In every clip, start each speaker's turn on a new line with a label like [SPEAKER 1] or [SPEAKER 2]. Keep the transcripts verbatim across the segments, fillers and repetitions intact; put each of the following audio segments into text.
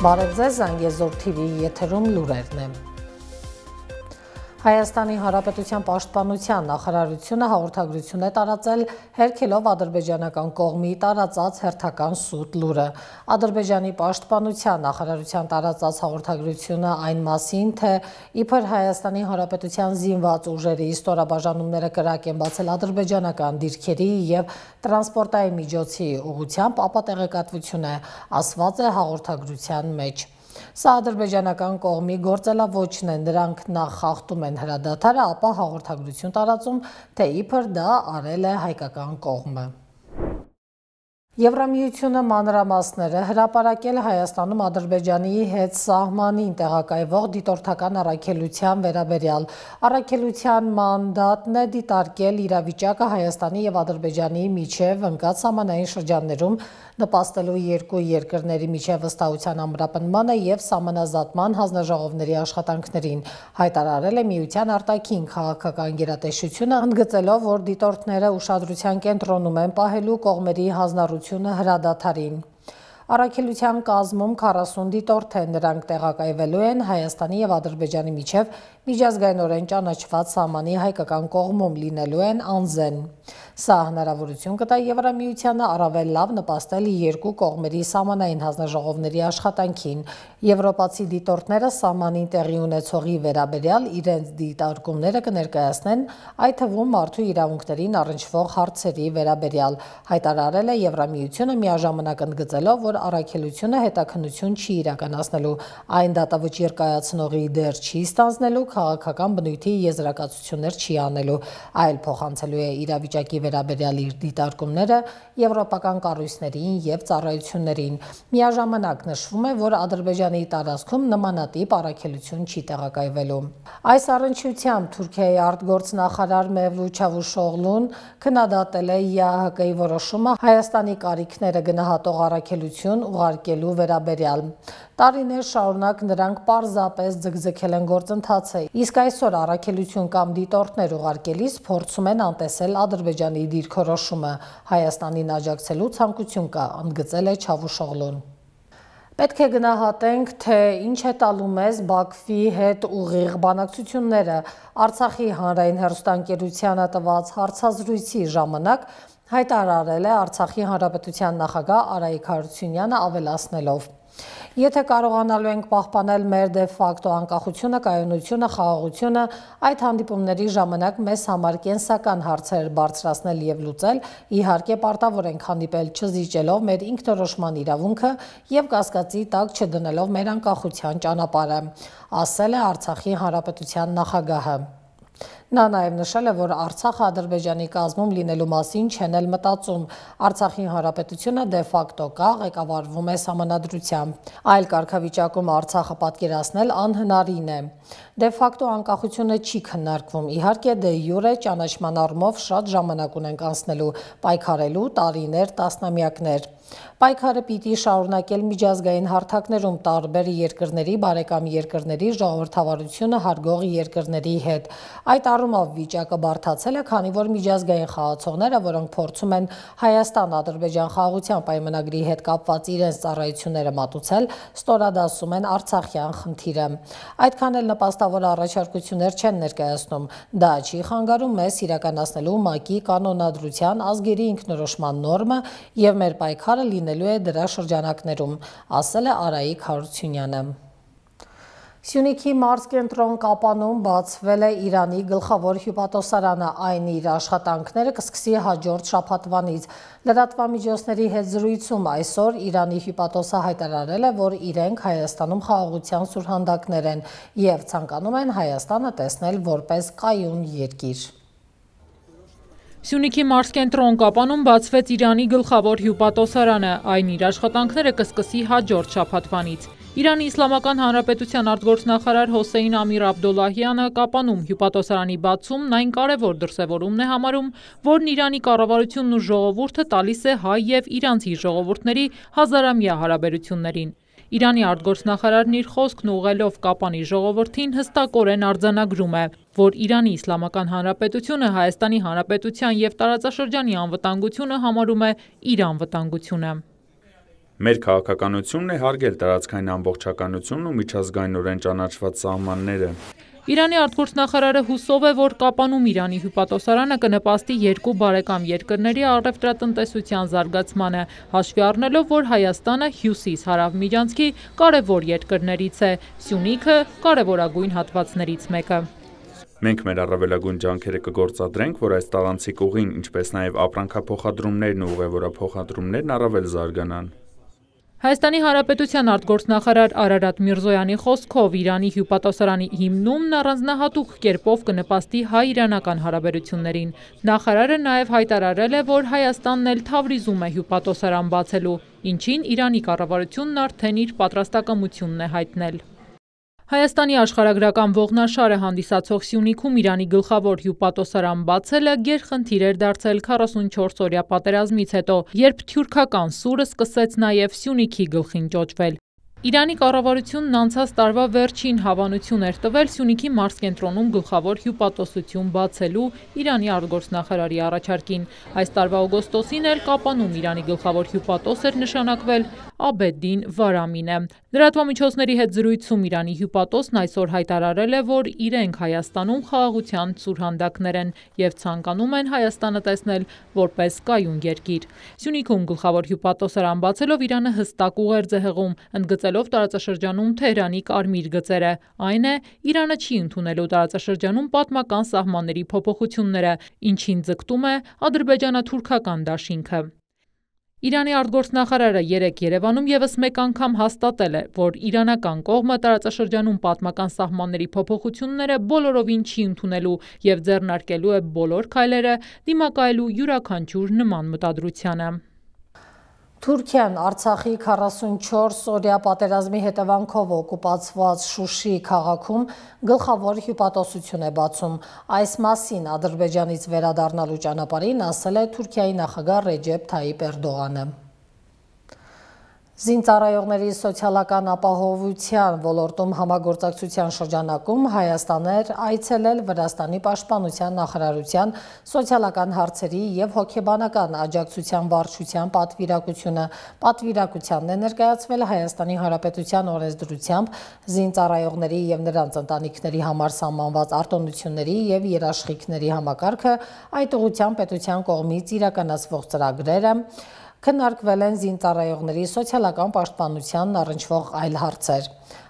[SPEAKER 1] Բարև ձեզ, Զանգեզուր թի վի եթերում լուրերն են։ Հայաստանի Հանրապետության պաշտպանության նախարարությունը հաղորդագրություն է տարածել հերքելով ադրբեջանական կողմի տարածած հերթական սուտ լուրը։ Ադրբեջանի պաշտպանության նախարարության տարածած հաղորդագրությունը այն մասին, թե իբր Հայաստանի Հանրապետության զինված ուժերի ստորաբաժանումները կրակ են բացել ադրբեջանական դիրքերի և տրանսպորտային միջոցի ուղղությամբ, ապա տեղեկատվություն է, ասված է հաղորդագրության մեջ։ Սա ադրբեջանական կողմի գործելավոճն է, նրանք նախ խախտում են հրադադարը, ապա հաղորդագրություն տարածում, թե իբր դա արել է հայկական կողմը։ Եվրամիությունը մանրամասները հրապարակել Հայաստանում Ադրբեջանի հետ սահմանին տեղակայվող դիտորդական առաքելության վերաբերյալ։ Առաքելության մանդատն է դիտարկել իրավիճակը Հայաստանի և Ադրբեջանի միջև ընկած սահմանային շրջաններում, նպաստելու երկու երկրների միջև վստահության ամրապնդմանը և սահմանազատման հանձնաժողովների աշխատանքներին, հայտարարել է Միության արտաքին քաղաքական գերատեսչությունը, ընդգծելով, որ դիտորդները ուշադրության կենտրոնում են պահելու կողմերի հանձնառությունը հրադադարին։ Առաքելության կազմում քառասուն դիտորդ են, նրանք տեղակայվելու են Հայաստանի և Ադրբեջանի միջև միջազգայինորեն ճանաչված սահմանի հայկական կողմում, լինելու են անզեն։ Սա հնարավորություն կտա Եվրամիությանը առավել լավ նպաստել երկու կողմերի սահմանային հանձնաժողովների աշխատանքին։ Եվրոպացի դիտորդները սահմանին տեղի ունեցողի վերաբերյալ իրենց դիտարկումները կներկայացնեն, այդ թվում մարդու իրավունքներին առնչվող հարցերի վերաբերյալ, հայտարարել է Եվրամիությունը, միաժամանակ ընդգծելով, որ առաքելությունը հետաքննություն չի իրականացնելու, այն դատավճիռ կայացնողի դեր չի ստանձնելու, քաղաքական բնույթի եզրակացություններ չի անելու, այլ փոխանցելու է իրավիճակի վերաբերյալ իր դիտարկումները եվրոպական կառույցներին և ծառայություններին։ Միաժամանակ նշվում է, որ Ադրբեջանի տարածքում նմանատիպ առաքելություն չի տեղակայվելու։ Այս առնչությամբ Թուրքիայի արտգործնախարար Մևլութ Չավուշօղլուն քննադատել է ԵԱՀԿ-ի որոշումը Հայաստանի կարիքները գնահատող առաքելություն ուղարկելու վերաբերյալ։ Տարիներ շարունակ նրանք պարզապես ձգձգել են գործընթացը, իսկ այսօր առաքելություն կամ դիտորդներ ուղարկելիս փորձում են անտեսել Ադրբեջանի դիրքորոշումը, Հայաստանին աջակցելու ցանկություն կա, ընդգծել է Չավուշօղլուն։ Պետք է գնահատենք, թե ինչ է տալու մեզ Բաքվի հետ ուղիղ բանակցությունները։ Արցախի հանրային հեռուստաընկերությանը տված հարցազրույցի ժամանակ հայտարարել է Արցախի հանրապետության նախագահ Արայիկ Հարությունյանը, ավելացնելով. Եթե կարողանալու ենք պահպանել մեր դե ֆակտո անկախությունը, կայունությունը, խաղաղությունը, այդ հանդիպումների ժամանակ մեզ համար կենսական հարցեր բարձրացնել և լուծել, իհարկե պարտավոր ենք հանդիպել չզիջելով մեր ինքնորոշման իրավունքը և կասկածի տակ չդնելով մեր անկախության ճանապարհը, ասել է Արցախի հանրապետության նախագահը։ Նա նաև նշել է, որ Արցախը Ադրբեջանի կազմում լինելու մասին չեն էլ մտածում։ Արցախի հանրապետությունը դե ֆակտո կա, ղեկավարվում է սահմանադրությամբ։ Այլ կարգավիճակում Արցախը պատկերացնել անհնարին է։ Դե ֆակտո անկախությունը չի քննարկվում։ Իհարկե դե յուրե ճանաչման առումով շատ ժամանակ ունենք անցնելու, պայքարելու տարիներ, տասնամյակներ։ Պայքարը պիտի շարունակել միջազգային հարթակներում տարբեր երկրների, բարեկամ երկրների, ժողովրդավարությունը հարգող երկրների հետ։ Այդ առումով վիճակը բարդացել է, քանի որ միջազգային խաղացողները, որոնք փորձում են Հայաստան-Ադրբեջան խաղաղության պայմանագրի հետ կապված իրենց ծառայությունները մատուցել, ստորադասում են արցախյան խնդիրը։ Այդքան էլ նպաստավոր առաջարկություններ չեն ներկայացնում։ Դա չի խանգարում մեզ իրականացնելու ՄԱԿ-ի կանոնադրության ազգերի ինքնորոշման նորմը և մեր պայքարը լինելու է դրա շրջանակներում, ասել է Արայիկ Հարությունյանը։ Սյունիքի մարզկենտրոն Կապանում բացվել է Իրանի գլխավոր հյուպատոսարանը, այն իր աշխատանքները կսկսի հաջորդ շաբաթվանից։ Լրատվամիջոցների հետ զրույցում այսօր Իրանի հյուպատոսը հայտարարել է, որ իրենք Հայաստանում խաղաղության սուրհանդակներ են և ցանկանում են Հայաստանը տեսնել որպես կայուն երկիր։
[SPEAKER 2] Սյունիքի մարզկենտրոն Կապանում բացվեց Իրանի գլխավոր հյուպատոսարանը, այն իր աշխատանքները կսկսի հաջորդ շաբաթվանից։ Իրանի Իսլամական Հանրապետության արտգործնախարար Հոսեյն Ամիր Աբդոլլահյանը Կապանում հյուպատոսարանի բացումն այն կարևոր դրսևորումն է համարում, որն Իրանի կառավարությունն ու ժողովուրդը տալիս է հայ և իրանցի ժողովուրդների հազարամյա հարաբերություններին։ Իրանի արտգործնախարարն իր խոսքն ուղղելով Կապանի ժողովրդին հստակորեն արձանագրում է, որ Իրանի Իսլամական Հանրապետությունը Հայաստանի Հանրապետության և տարածաշրջանի անվտանգությունը համարում է իր անվտանգությունը։
[SPEAKER 3] Մեր քաղաքականությունն է հարգել տարածքային ամբողջականությունն ու միջազգայինորեն ճանաչված սահմանները։
[SPEAKER 2] Իրանի արտգործնախարարը հուսով է, որ Կապանում Իրանի հյուպատոսարանը կնպաստի երկու բարեկամ երկրների առևտրատնտեսության զարգացմանը, հաշվի առնելով, որ Հայաստանը հյուսիս-հարավ միջանցքի կարևոր երկրներից է, Սյունիքը կարևորագույն հատվածներից մեկը։
[SPEAKER 3] Մենք մեր առավելագույն ջանքերը կգործադրենք, որ այս տարանցիկ ուղին, ինչպես նաև ապրանքափոխադրումներն ու ուղևորափոխադրումներն առավել զարգանան։
[SPEAKER 2] Հայաստանի Հանրապետության արտգործնախարար Արարատ Միրզոյանի խոսքով Իրանի հյուպատոսարանի հիմնումն առանձնահատուկ կերպով կնպաստի հայ-իրանական հարաբերություններին։ Նախարարը նաև հայտարարել է, որ Հայաստանն էլ Թավրիզում է հյուպատոսարան բացելու, ինչին Իրանի կառավարությունն արդեն իր պատրաստակամությունն է հայտնել։ Հայաստանի աշխարհագրական ողնաշարը հանդիսացող Սյունիքում Իրանի գլխավոր հյուպատոսարան բացելը գերխնդիր էր դարձել քառասունչորս-օրյա պատերազմից հետո, երբ թյուրքական սուրը սկսեց նաև Սյունիքի գլխին ճոճվել։ Իրանի կառավարությունն անցած տարվա վերջին հավանություն էր տվել Սյունիքի մարզկենտրոնում գլխավոր հյուպատոսություն բացելու Իրանի արտգործնախարարի առաջարկին։ Այս տարվա օգոստոսին էլ Կապանում Իրանի գլխավոր հյուպատոս էր նշանակվել Աբեդդին Վարամինը։ Լրատվամիջոցների հետ զրույցում Իրանի հյուպատոսն այսօր հայտարարել է, որ իրենք Հայաստանում խաղաղության սուրհանդակներ են և ցանկանում են Հայաստանը տեսնել որպես կայուն երկիր։ Սյունիքում գլխավոր հյուպատոսարան բացելով Իրանը հստակ ուղերձ է հղում, ընդգծելով տարածաշրջանում Թեհրանի կարմիր գծերը, այն է, Իրանը չի ընդունելու տարածաշրջանում պատմական սահմանների փոփոխությունները, ինչին ձգտում է ադրբեջանա-թուրքական դաշինքը։ Իրանի արտգործնախարարը երեկ Երևանում ևս մեկ անգամ հաստատել է, որ իրանական կողմը տարածաշրջանում պատմական սահմանների փոփոխությունները բոլորովին չի ընդունելու և ձեռնարկելու է բոլոր քայլերը դիմակայելու յուրաքանչյուր նման մտադրությանը։
[SPEAKER 1] Թուրքիան Արցախի քառասունչորս-օրյա պատերազմի հետևանքով օկուպացված Շուշի քաղաքում գլխավոր հյուպատոսություն է բացում։ Այս մասին Ադրբեջանից վերադառնալու ճանապարհին ասել է Թուրքիայի նախագահ Ռեջեփ Թայիփ Էրդողանը։ Զինծառայողների սոցիալական ապահովության ոլորտում համագործակցության շրջանակում Հայաստան էր այցելել Վրաստանի պաշտպանության նախարարության սոցիալական հարցերի և հոգեբանական աջակցության վարչության պատվիրակությունը։ Պատվիրակությանն է ներկայացվել Հայաստանի Հանրապետության օրենսդրությամբ զինծառայողների և նրանց ընտանիքների համար սահմանված արտոնությունների և երաշխիքների համակարգը, այդ ուղղությամբ պետության կողմից իրականացվող ծրագրերը, քննարկվել են զինծառայողների սոցիալական պաշտպանությանն առնչվող այլ հարցեր։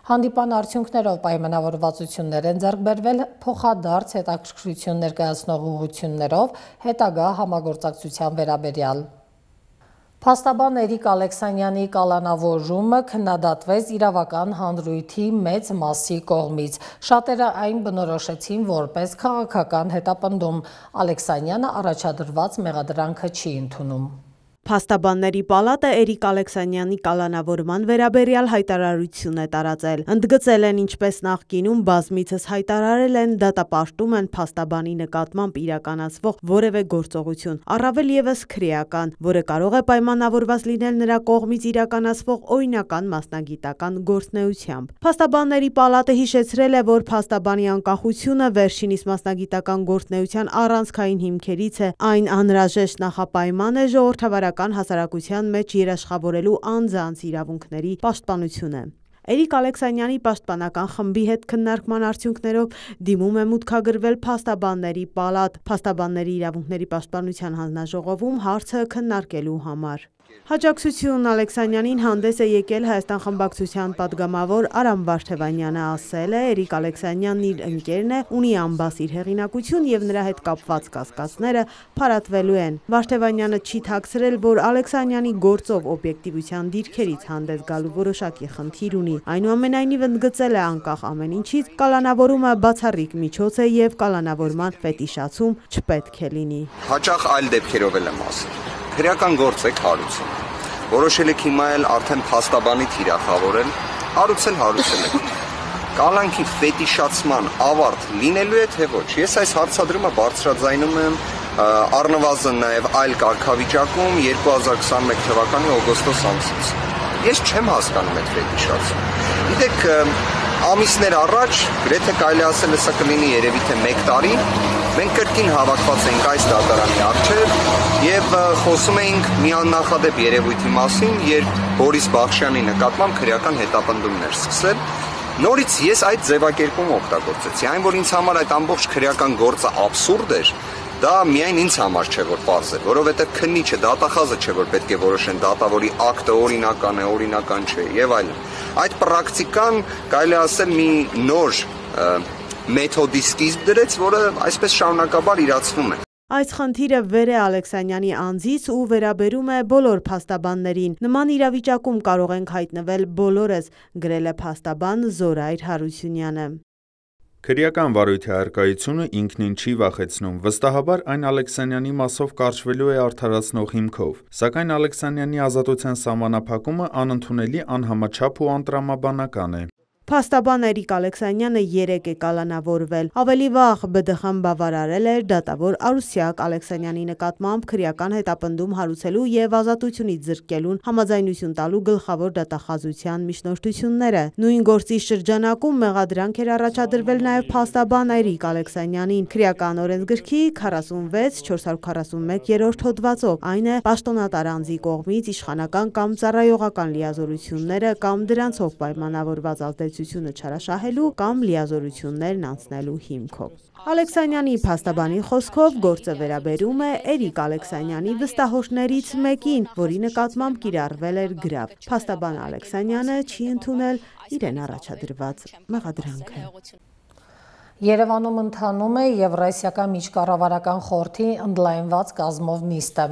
[SPEAKER 1] Հանդիպան արդյունքներով պայմանավորվածություններ են ձեռք բերվել փոխադարձ հետաքրքրություն ներկայացնող ուղղություններով հետագա համագործակցության վերաբերյալ։ Փաստաբան Էրիկ Ալեքսանյանի կալանավորումը քննադատվեց իրավական հանրույթի մեծ մասի կողմից։ Շատերը այն բնորոշեցին որպես քաղաքական հետապնդում։ Ալեքսանյանը առաջադրված մեղադրանքը չի ընդունում։
[SPEAKER 4] Փաստաբանների պալատը Էրիկ Ալեքսանյանի կալանավորման վերաբերյալ հայտարարություն է տարածել։ Ընդգծել են, ինչպես նախկինում բազմիցս հայտարարել են, դատապարտում են փաստաբանի նկատմամբ իրականացվող որևէ գործողություն, առավել ևս քրեական, որը կարող է պայմանավորված լինել նրա կողմից իրականացվող օրինական մասնագիտական գործունեությամբ։ Փաստաբանների պալատը հիշեցրել է, որ փաստաբանի անկախությունը վերջինիս մասնագիտական գործունեության առանցքային հիմքերից է, այն անհրաժեշտ նախապայման է ժողովրդավարական հասարակության մեջ երաշխավորելու անձանց իրավունքների պաշտպանությունը։ Էրիկ Ալեքսանյանի պաշտպանական խմբի հետ քննարկման արդյունքներով դիմում է մուտքագրվել փաստաբանների պալատ, փաստաբանների իրավունքների պաշտպանության հանձնաժողովում հարցը քննարկելու համար։ Հաջակցություն Ալեքսանյանին հանդես է եկել Հայաստան խմբակցության պատգամավոր Արամ Վարդևանյանը, ասել է Էրիկ Ալեքսանյանն իր ընկերն է, ունի անբասիր հեղինակություն և նրա հետ կապված կասկածները փարատվելու են։ Վարդևանյանը չի թաքցրել, որ Ալեքսանյանի գործով օբյեկտիվության դիրքերից հանդես գալու որոշակի խնդիր ունի։ Այնուամենայնիվ ընդգծել է անկախ ամեն ինչից, կալանավորումը բացառիկ միջոց է և կալանավորման ֆետիշացում չպետք է լինի։
[SPEAKER 5] Հաճախ այլ դեպքերով էլ եմ ասել։ Քրեական գործ եք հարուցում։ Որոշել եք հիմա էլ արդեն փաստաբանի թիրախավորել, հարուցել հարուցել եք։ Կալանքի ֆետիշացման ավարտ լինելու է թե ոչ։ Ես այս հարցադրումը բարձրաձայնում եմ առնվազն նաև այլ կարգավիճակում երկու հազար քսաներկու թվականի օգոստոս ամսից։ Ես չեմ հասկանում այդ ֆետիշացումը։ Գիտեք, ամիսներ առաջ, գրեթե կարելի ասել է սա կլինի երևի թե մեկ տարի, Մենք կրկին հավաքված ենք այս դատարանի առջև եւ խոսում էինք մի աննախադեպ երևույթի մասին, երբ Բորիս Բախշյանի նկատմամբ քրեական հետապնդումներ սկսել։ Նորից ես այդ ձևակերպումը օգտագործեցի, այն որ ինձ համար այդ ամբողջ քրեական գործը աբսուրդ էր, դա միայն ինձ համար չէ որ պարզ է, որովհետեւ քննիչը, դատախազը չէ որ պետք է որոշեն դատավորի ակտը օրինական է, օրինական չէ եւ այլն։ Այդ պրակտիկան կարելի է ասել մի նոր մեթոդի սկիզբ դրեց, որը այսպես շարունակաբար իրացվում է։
[SPEAKER 4] Այս խնդիրը վեր է Ալեքսանյանի անձից ու վերաբերում է բոլոր փաստաբաններին։ Նման իրավիճակում կարող ենք հայտնվել բոլորս, գրել է փաստաբան Զորայր Հարությունյանը։
[SPEAKER 3] Քրեական վարույթի առկայությունը ինքնին չի վախեցնում, վստահաբար այն Ալեքսանյանի մասով կարճվելու է արդարացնող հիմքով, սակայն Ալեքսանյանի ազատության սահմանափակումը անընդունելի, անհամաչափ ու անտրամաբանական է։
[SPEAKER 4] Փաստաբան Էրիկ Ալեքսանյանը երեկ է կալանավորվել։ Ավելի վաղ Բ Դ Խ-ն բավարարել էր դատավոր Արուսյակ Ալեքսանյանի նկատմամբ քրեական հետապնդում հարուցելու եւ ազատությունից զրկելուն համաձայնություն տալու գլխավոր դատախազության միջնորդությունները։ Նույն գործի շրջանակում մեղադրանք էր առաջադրվել նաեւ փաստաբան Էրիկ Ալեքսանյանին քրեական օրենսգրքի քառասունվեց չորս հարյուր քառասունմեկ-րդ հոդվածով, այն է պաշտոնատար անձի կողմից իշխանական կամ ծառայողական լիազորությունները կամ դրանցով պայմանավորված ազդեցությունը չարաշահելու կամ լիազորություններն անցնելու հիմքով։ Ալեքսանյանի փաստաբանի խոսքով գործը վերաբերում է Էրիկ Ալեքսանյանի վստահողջներից մեկին, որի նկատմամբ կիրառվել էր գրավ։ Փաստաբան Ալեքսանյանը չի ընդունել իրեն առաջադրված մեղադրանքը։
[SPEAKER 1] Երևանում ընթանում է Եվրասիական միջկառավարական խորհրդի ընդլայնված կազմով նիստը։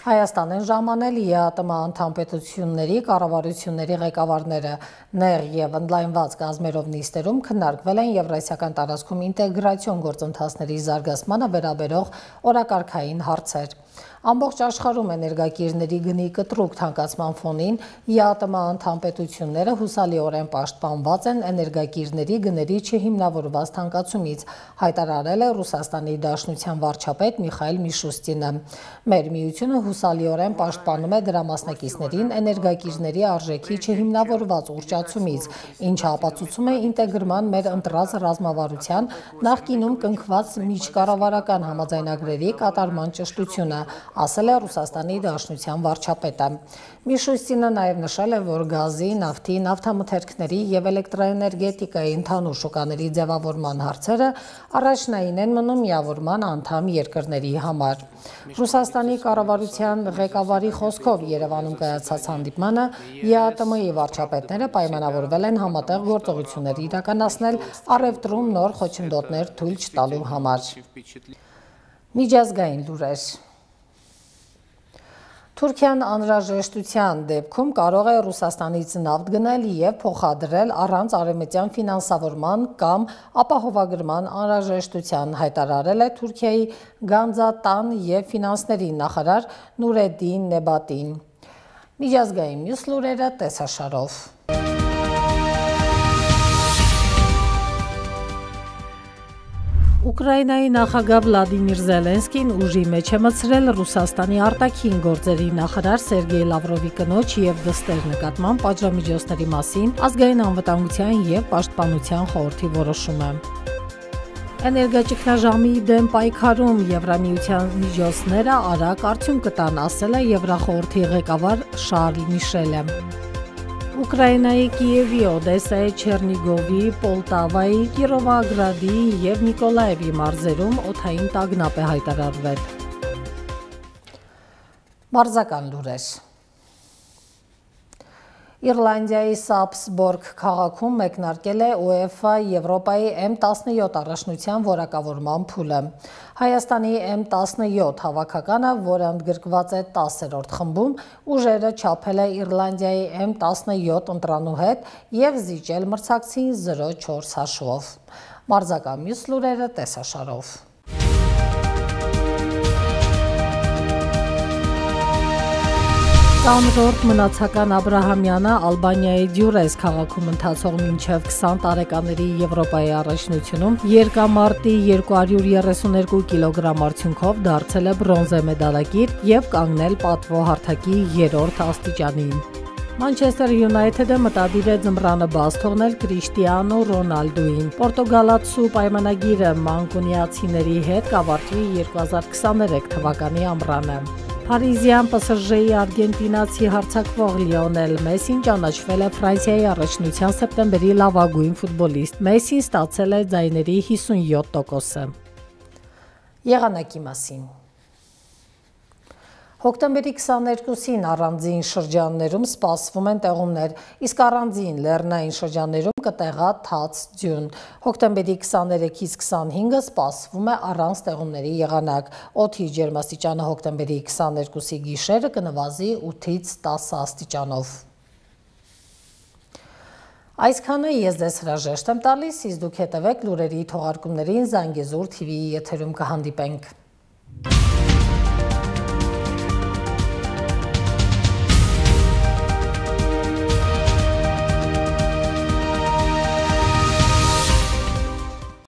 [SPEAKER 1] Հայաստան են ժամանել Ե Ա ՏՄ անդամ պետությունների կառավարությունների ղեկավարները։ Նեղ եւ ընդլայնված կազմերով նիստերում քննարկվել են Եվրասիական տարածքում ինտեգրացիոն գործընթացների զարգացմանը վերաբերող օրակարգային հարցեր։ Ամբողջ աշխարհում էներգակիրների գնի կտրուկ թանկացման ֆոնին Ե Ա ՏՄ անդամ պետությունները հուսալիորեն պաշտպանված են էներգակիրների գների չհիմնավորված թանկացումից, հայտարարել է Ռուսաստանի Դաշնության վարչապետ Միխայիլ Միշուստինը։ Մեր միությունը հուսալիորեն պաշտպանում է դրա մասնակիցներին էներգակիրների արժեքի չհիմնավորված ուռճացումից, ինչը ապացուցում է ինտեգրման մեր ընտրած ռազմավարության նախկինում կնքված միջկառավարական համաձայնագրերի կատարման ճշտությունը, ասել է Ռուսաստանի Դաշնության վարչապետը։ Միշուստինը նաև նշել է, որ գազի, նավթի, նավթամթերքների եւ էլեկտրաէներգետիկայի ընդհանուր շուկաների ձևավորման հարցերը առաջնային են մնում միավորման անդամ երկրների համար։ Ռուսաստանի կառավարության ղեկավարի խոսքով Երևանում կայացած հանդիպմանը Ե Ա ՏՄ-ի վարչապետները պայմանավորվել են համատեղ գործողություններ իրականացնել առևտրում նոր խոչընդոտներ թույլ չտալու համար։ Միջազգային լուրեր։ Թուրքիան անհրաժեշտության դեպքում կարող է Ռուսաստանից նավթ գնել եւ փոխադրել առանց արևմտյան ֆինանսավորման կամ ապահովագրման անհրաժեշտության, հայտարարել է Թուրքիայի գանձատան եւ ֆինանսների նախարար Նուրեդին Նեբատին։ Միջազգային մյուս լուրերը տեսաշարով։ Ուկրաինայի նախագահ Վլադիմիր Զելենսկին ուժի մեջ է մտցրել Ռուսաստանի արտաքին գործերի նախարար Սերգեյ Լավրովի կնոջ եւ դստեր նկատմամբ պատժամիջոցների մասին ազգային անվտանգության եւ պաշտպանության խորհրդի որոշումը։ Էներգաճգնաժամի դեմ պայքարում Եվրամիության միջոցները արագ արդյունք կտան, ասել է Եվրախորհրդի ղեկավար Շարլ Միշելը։ Ուկրաինայի Կիևի, Օդեսայի, Չեռնիգովի, Պոլտավայի, Կիրովագրադի եւ Նիկոլաևի մարզերում օդային տագնապ է հայտարարվել։ Մարզական լուրեր։ Իռլանդիայի Սապսբորգ քաղաքում մեկնարկել է ՈՒԵՖԱ Եվրոպայի Էմ տասնյոթ առաջնության որակավորման փուլը։ Հայաստանի Էմ տասնյոթ հավաքականը, որը ընդգրկված է տասերորդ խմբում, ուժերը չափել է Իռլանդիայի Էմ տասնյոթ ընտրանու հետ եւ զիջել մրցակցին զրո չորս հաշվով։ Մարզական մյուս լուրերը տեսաշարով։ Տանրորդ մնացական Աբրահամյանը Ալբանիայի Դյուրես քաղաքում ընթացող մինչև քսան տարեկաների Եվրոպայի առաջնությունում երկամարտի երկու հարյուր երեսուներկու կիլոգրամ արդյունքով դարձել է բրոնզե մեդալակիր եւ կանգնել պատվո հարթակի երրորդ աստիճանին։ Manchester United-ը մտադիր է ձմռանը բաց թողնել Կրիշտիանո Ռոնալդուին։ Պորտուգալացու պայմանագիրը մանկունիացիների հետ կավարտվի երկու հազար քսաներեք թվականի ամռանը։ Փարիզյան Պ Ս Ժ-ի արգենտինացի հարձակվող Լիոնել Մեսին ճանաչվել է Ֆրանսիայի առաջնության սեպտեմբերի լավագույն ֆուտբոլիստ։ Մեսին ստացել է ձայների հիսունյոթ տոկոսը։ Եղանակի մասին։ Հոկտեմբերի քսաներկուսին առանձին շրջաններում սպասվում են տեղումներ, իսկ առանձին լեռնային շրջաններում կտեղա թաց ձյուն։ Հոկտեմբերի քսաներեքից քսանհինգը սպասվում է առանց տեղումների եղանակ։ Օդի ջերմաստիճանը հոկտեմբերի քսաներկուսի գիշերը կնվազի ութից տասը աստիճանով։ Այսքանը ես ձեզ հրաժեշտ եմ տալիս, իսկ դուք հետևեք լուրերի թողարկումներին Զանգեզուր Թ V-ի եթերում կհանդիպենք։